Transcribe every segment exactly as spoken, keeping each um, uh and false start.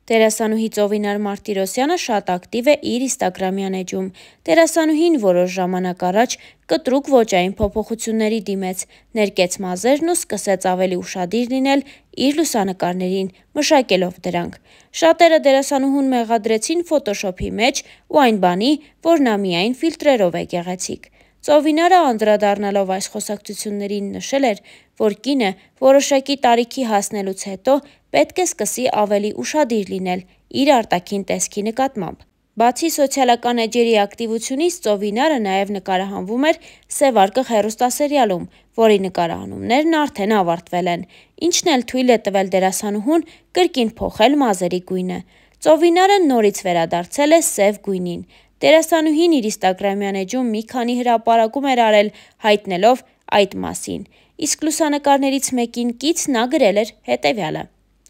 Դերասանուհի Ծովինար Մարտիրոսյանը շատ ակտիվ է իր ինստագրամյան էջում։ Դերասանուհին որոշ ժամանակ առաջ կտրուկ ոճային փոփոխությունների դիմեց, ներկեց մազերն ու սկսեց ավելի ուշադիր լինել իր լուսանկարներին, մշակելով դրանք։ Շատերը դերասանուհուն մեղադրեցին ֆոտոշոփի մեջ ու այն բանի, որ նա միայն ֆիլտրերով է գեղեցիկ։ Ծովինարը անդրադառնալով այս խոսակցություններին նշել էր, որ կինը որոշակի տարիքի հասնելուց հետո պետք է սկսի ավելի ուշադիր լինել իր արտաքին տեսքի նկատմամբ։ Բացի սոցիալական էջերի ակտիվությունից, Ծովինարը նաև նկարահանվում էր «Սևարկղ» հեռուստասերիալում, որի նկարահանումներն արդեն ավարտվել են, ինչն էլ թույլ է տվել դերասանուհուն կրկին փոխել մազերի գույնը։ Ծովինարը նորից վերադարձել է սև գույնին։ Դերասանուհին իր ինստագրամյան էջում մի քանի հրապարակում էր արել հայտնելով այդ մասին, իսկ լուսանկարներից մեկին կից նա գրել էր հետևյալը.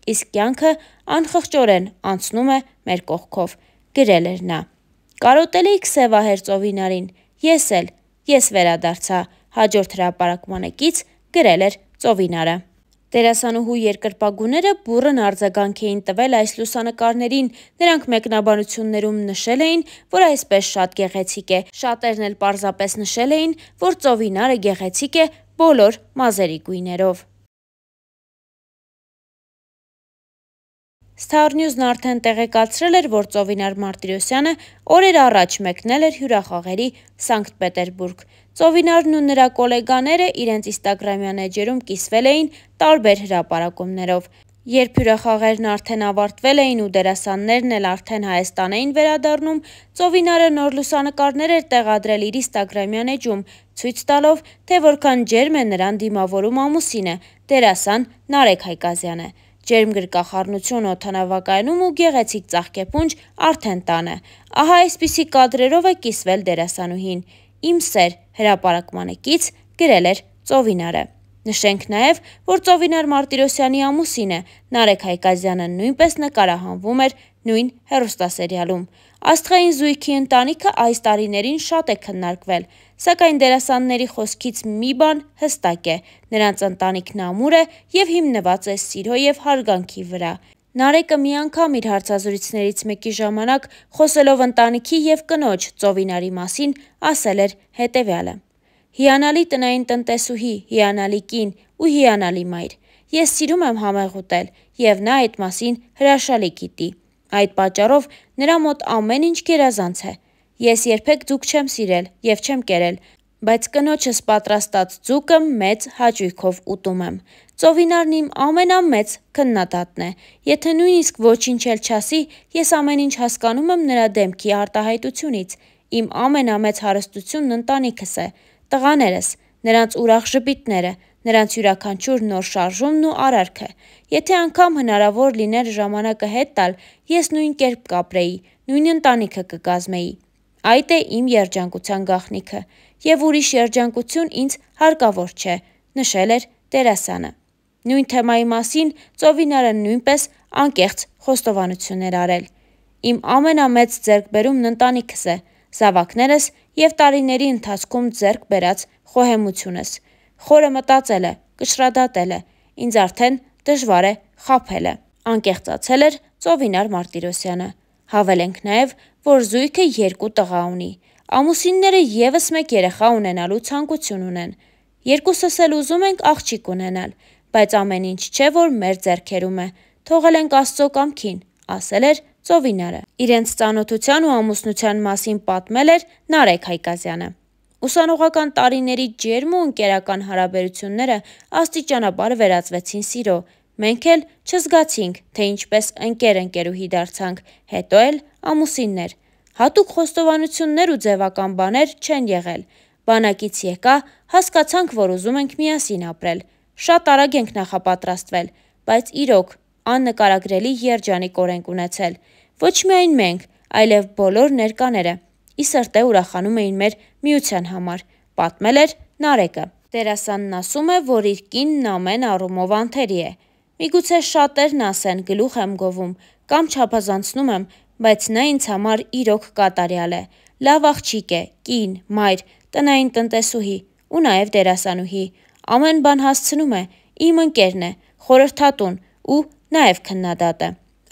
«Իսկ կյանքը անխղճորեն անցնում է մեր կողքով», գրել էր նա։ «Կարոտելիք սևահեր Ծովինարին, ես էլ, ես վերադարձա», հաջորդ հրապարակմանը կից գրել էր Ծովինարը։ Դերասանուհու երկրպագուները բուռն արձագանք էին տվել այս լուսանկարներին, նրանք մեկնաբանություններում նշել էին, որ այսպես շատ գեղեցիկ է, շատերն էլ պարզապես նշել էին, որ Ծովինարը գեղեցիկ է բոլոր մազերի գույներով։ Star News-ն արդեն տեղեկացրել էր, որ Ծովինար Մարտիրոսյանը օրեր առաջ մեկնել էր հյուրախաղերի Սանկտ Պետերբուրգ։ Ծովինարն ու նրա գոլեգաները իրենց ինստագրամյան էջերում կիսվել էին տարբեր հրապարակումներով։ Երբ հյուրախաղերն արդեն ավարտվել էին ու դերասաններն էլ արդեն Հայաստան էին վերադառնում, Ծովինարը նոր լուսանկարներ էր տեղադրել իր ինստագրամյան էջում, ցույց տալով, թե որքան ջերմ է նրան դիմավորում ամուսինը՝ դերասան Նարեկ Հայկազյանը։ Ջերմ գրկախառնություն օդանավակայանում ու գեղեցիկ ծաղկեփունջ արդեն տանը։ Ահա այսպիսի կադրերով է կիսվել դերասանուհին։ «Իմ սեր» հրապարակմանը կից գրել էր Ծովինարը։ Նշենք նաև, որ Ծովինար Մարտիրոսյանի ամուսինը Նարեկ Հայկազյանը նույնպես նկարահանվում էր նույն հեռուստասերիալում։ Աստղային զույգի ընտանիքը այս տարիներին շատ է քննարկվել, սակայն դերասանների խոսքից մի բան հստակ է՝ նրանց ընտանիքն ամուր է և հիմնված է սիրո և հարգանքի վրա։ Նարեկը մի անգամ իր հարցազրույցներից մեկի ժամանակ, խոսելով ընտանիքի և կնոջ Ծովինարի մասին, ասել էր հետևյալը. «Հիանալի տնային տնտեսուհի, հիանալի կին ու հիանալի մայր։ Ես սիրում եմ համեղ ուտել, և նա այդ մասին հրաշալի գիտի։ Այդ պատճառով նրա մոտ ամեն ինչ գերազանց է։ Ես երբեք ձուկ չեմ սիրել և չեմ կերել, բայց կնոջս պատրաստած ձուկը մեծ հաճույքով ուտում եմ։ Ծովինարն իմ ամենամեծ քննադատն է։ Եթե նույնիսկ ոչինչ էլ չասի, ես ամեն ինչ հասկանում եմ նրա դեմքի արտահայտությունից։ Իմ ամենամեծ հարստությունն ընտանիքս է, տղաներս, նրանց ուրախ ժպիտները, նրանց յուրաքանչյուր նոր շարժումն ու արարքը։ Եթե անգամ հնարավոր լիներ ժամանակը հետ տալ, ես նույն կերպ կապրեի, նույն ընտանիքը կկազմեի։ Այդ է իմ երջանկության գաղտնիքը, և ուրիշ երջանկություն ինձ հարկավոր չէ», նշել էր դերասանը։ Նույն թեմայի մասին Ծովինարը նույնպես անկեղծ խոստովանություն էր արել։ «Իմ ամենամեծ ձեռքբերումն ընտանիքս է, զավակներս և տարիների ընթացքում ձեռք բերած խոհեմությունս։ Խորը մտածելը, կշռադատելը, ինձ արդեն դժվար է խաբելը», անկեղծացել էր Ծովինար Մարտիրոսյանը։ Հավելենք նաև, որ զույգը երկու տղա ունի։ Ամուսինները ևս մեկ երեխա ունենալու ցանկություն ունեն։ «Երկուսս էլ ուզում ենք աղջիկ ունենալ, բայց ամեն ինչ չէ, որ մեր ձեռքերում է, թողել ենք Աստծո կամքին», ասել էր Ծովինարը։ Իրենց ծանոթության ու ամուսնության մասին պատմել էր Նարեկ Հայկազյանը։ Ուսանողական տարիների ջերմ ու ընկերական հարաբերությունները աստիճանաբար վերածվեցին սիրո։ Մենք էլ չզգացինք, թե ինչպես ընկեր-ընկերուհի դարձանք, հետո էլ ամուսիններ։ Հատուկ խոստովանություններ ու ձևական բաներ չեն եղել։ Բանակից եկա, հասկացանք, որ ուզում ենք միասին ապրել։ Շատ արագ ենք նախապատրաստվել, բայց իրոք աննկարագրելի երջանիկ օրենք ունեցել։ Ոչ միայն մենք, այլև բոլոր ներկաները ի սրտե ուրախանում էին մեր միության համար, պատմել էր Նարեկը։ Դերասանն ասում է, որ իր կինն ամեն առումով անթերի է։ Միգուցե շատերն ասեն գլուխ եմ գովում կամ չափազանցնում եմ, բայց նա ինձ համար իրոք կատարյալ է։ Լավ աղջիկ է, կին, մայր, տնային տնտեսուհի ու նաև դերասանուհի։ Ամեն բան հասցնում է, իմ ընկերն է, խորհրդատուն ու նաև քննադատը։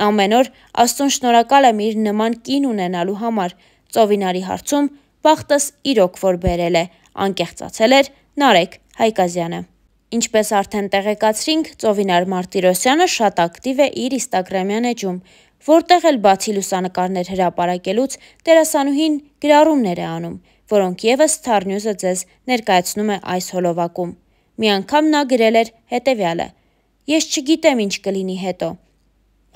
Ամեն օր Աստծուն շնորհակալ եմ իր նման կին ունենալու համար, Ծովինարի հարցում բախտս իրոք որ բերել է, անկեղծացել էր Նարեկ Հայկազյանը։ Ինչպես արդեն տեղեկացրինք, Ծովինար Մարտիրոսյանը շատ ակտիվ է իր ինստագրամյան էջում, որտեղ էլ բացի լուսանկարներ հրապարակելուց դերասանուհին գրառումներ է անում, որոնք ևս Star-News-ը ձեզ ներկայացնում է այս հոլովակում։ Մի անգամ նա գրել էր հետևյալը. «Ես չգիտեմ ինչ կլինի հետո։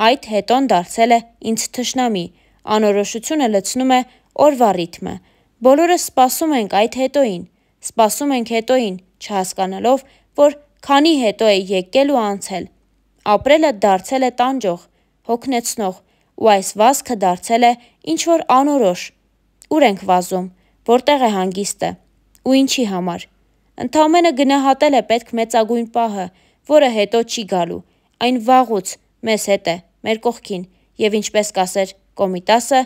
Այդ հետոն դարձել է ինձ թշնամի, անորոշությունը լցնում է օրվա ռիթմը։ Բոլորս սպասում ենք այդ հետոին, սպասում ենք հետոին, չհասկանալով, որ քանի հետո է եկել ու անցել։ Ապրելը դարձել է տանջող, հոգնեցնող, ու այս վազքը դարձել է ինչ-որ անորոշ։ Ուր ենք վազում, որտեղ է հանգիստը, ու ինչի համար։ Ընդամենը գնահատել է պետք մեծագույն պահը, որը հետո չի գալու, այն վաղուց մեզ հետ է, մեր կողքին, և ինչպես կասեր Կոմիտասը,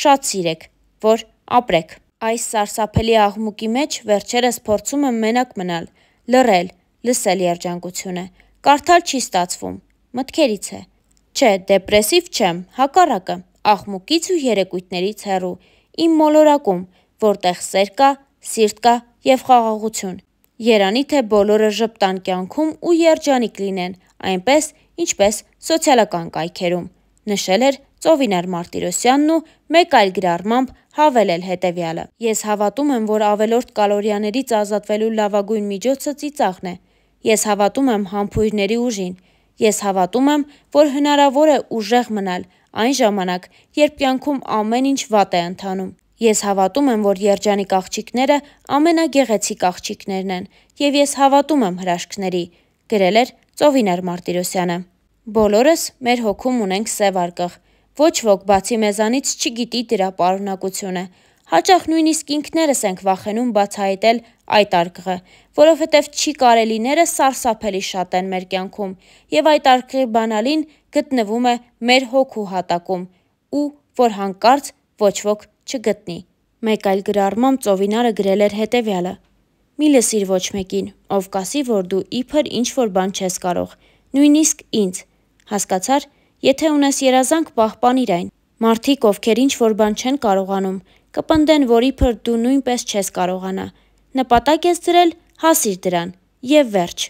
շատ սիրեք, որ ապրեք»։ Այս սարսափելի աղմուկի մեջ վերջերս փորձում եմ մենակ մնալ, լռել, լսել երջանկությունը, կարդալ չի ստացվում, մտքերից է։ Չէ, դեպրեսիվ չեմ, հակառակը, աղմուկից ու երեկույթներից հեռու, իմ մոլորակում, որտեղ սեր կա, սիրտ կա և խաղաղություն։ Երանի թե բոլորը ժպտան կյանքում ու երջանիկ լինեն, այնպես, ինչպես սոցիալական կայքերում, նշել էր Ծովինար Մարտիրոսյանն ու մեկ այլ գրառմամբ հավելել հետևյալը. «Ես հավատում եմ, որ ավելորդ կալորիաներից ազատվելու լավագույն միջոցը ծիծաղն է։ Ես հավատում եմ համբույրների ուժին։ Ես հավատում եմ, որ հնարավոր է ուժեղ մնալ այն ժամանակ, երբ կյանքում ամեն ինչ վատ է ընթանում։ Ես հավատում եմ, որ երջանիկ աղջիկները ամենագեղեցիկ աղջիկներն են, և ես հավատում եմ հրաշքների», գրել էր Ծովինար Մարտիրոսյանը։ Բոլորս մեր հոգում ունենք սև արկղ, ոչ ոք բացի մեզանից չգիտի դրա պարունակությունը։ Հաճախ նույնիսկ ինքներս ենք վախենում բացահայտել այդ արկղը, որովհետև չի կարելիները սարսափելի շատ են մեր կյանքում, և այդ արկղի բանալին գտնվում է մեր հոգու հատակում, ու որ հանկարծ ոչ ոք չգտնի։ Մեկ այլ գրառմամբ Ծովինարը գրել էր հետևյալը. «Մի լսիր ոչ մեկին, ով կասի, որ դու իբր ինչ-որ բան չես կարող, նույնիսկ ինձ։ Հասկացար, եթե ունես երազանք, պահպանիր այն։ Մարդիկ, ովքեր ինչ-որ բան չեն կարողանում, կպնդեն, որ իբր դու նույնպես չես կարողանա։ Նպատակ ես դրել, հասիր դրան, և վերջ։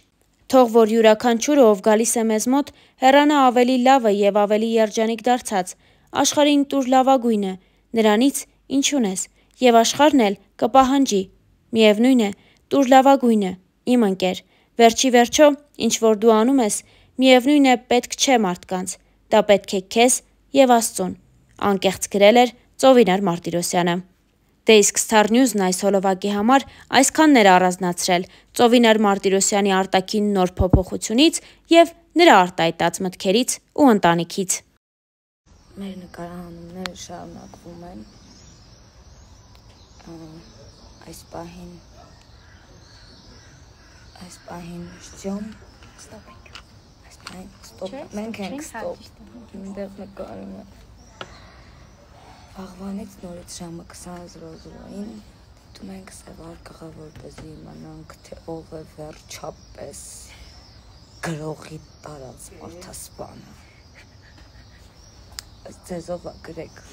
Թող որ յուրաքանչյուրը, ով գալիս է մեզ մոտ, հեռանա ավելի լավը և ավելի երջանիկ դարձած, աշխարհին տուր լավագույնը, նրանից, ինչ ունես, և աշխարհն էլ կպահանջի։ Միևնույն է, տուր լավագույնը, իմ ընկեր, վերջի վերջո, ինչ որ դու անում ես, միևնույն է պետք չէ մարդկանց, դա պետք է քեզ և Աստծուն», անկեղծ գրել էր Ծովինար Մարտիրոսյանը։ Դե իսկ Star-News-ն այս հոլովակի համար այսքանն էր առանձնացրել Ծովինար Մարտիրոսյանի արտաքին նոր փոփոխությունից և նրա արտահայտած մտքերից ու ընտանիքից։ Մեր նկարահանումները շարունակվում են։ Այս պահին Այս պահին ժյոմ ստոպ ենք։ Այս պահին ստոպ, մենք ենք ստոպ։ Այնտեղ նկարում է։ Վաղվանից նորից ժամը քսան զրոզրոյին դիտում ենք սև արկղը, որպեսզի իմանանք, թե ով է վերջապես գրողի տարած մարդասպանը։ Ձեզ ով է գրեք։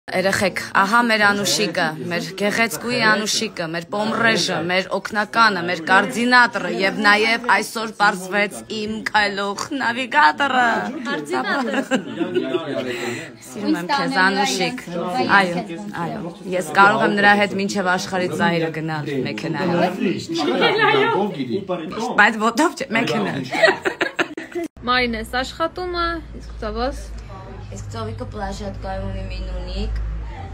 Երեխեք, ահա մեր Անուշիկը, մեր գեղեցկուի Անուշիկը, մեր պոմրեժը, մեր օգնականը, մեր կոորդինատորը եւ նաեւ այսօր պարզվեց իմ քայլող նավիգատորը։ Սիրում եմ քեզ Անուշիկ։ Այո, այո։ Ես կարող եմ նրա հետ մինչեւ աշխարհի ծայրը գնալ մեքենայով։ Բայց ոտով չէ, մեքենայով։ Մարինես աշխատումը, իսկ ծավոս Իսկ ծովիկը պլաժատկայում ունի մի նունիկ,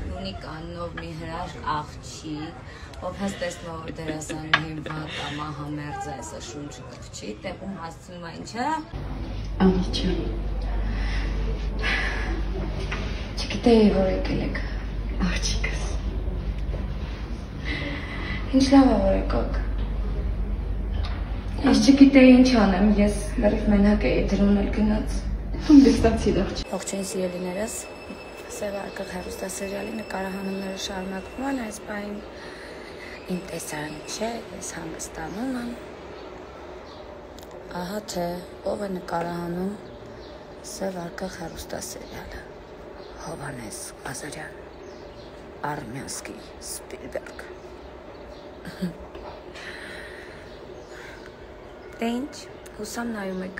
նունիկ աննով մի հրաշք աղջիկ, ով հենց տեսնում որ դերասանուհին վատ ամա համերձ է, այսա շունչը կրվչի, տեղում հասցնում է ինչա։ Անիչա։ Չգիտեի, որ եկել եք, աղջիկս։ Ինչ լավ է, որ եկոք։ Ես չգիտեի ինչ անեմ, ես լրիվ մենակ էի դրոն էլ գնաց։ Ողջույն սիրելիներս, Սև արկղ հեռուստասերիալի նկարահանումները շարունակվում են, այս պահին իմ տեսարանը չէ, ես հանգստանում եմ։ Ահա թե ով է նկարահանում Սև արկղ հեռուստասերիալը, Հովհաննես Ղազարյան, Արմյանսկի, Սպիլբերգ։ Դե ինչ, հուսամ նայում եք։